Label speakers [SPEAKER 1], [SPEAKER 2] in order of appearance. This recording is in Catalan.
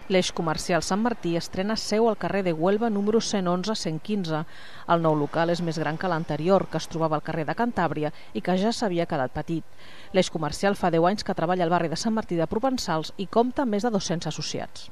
[SPEAKER 1] L'eix comercial Sant Martí estrena seu al carrer de Huelva número 111-115. El nou local és més gran que l'anterior, que es trobava al carrer de Cantàbria i que ja s'havia quedat petit. L'eix comercial fa 10 anys que treballa al barri de Sant Martí de Provençals i compta amb més de 200 associats.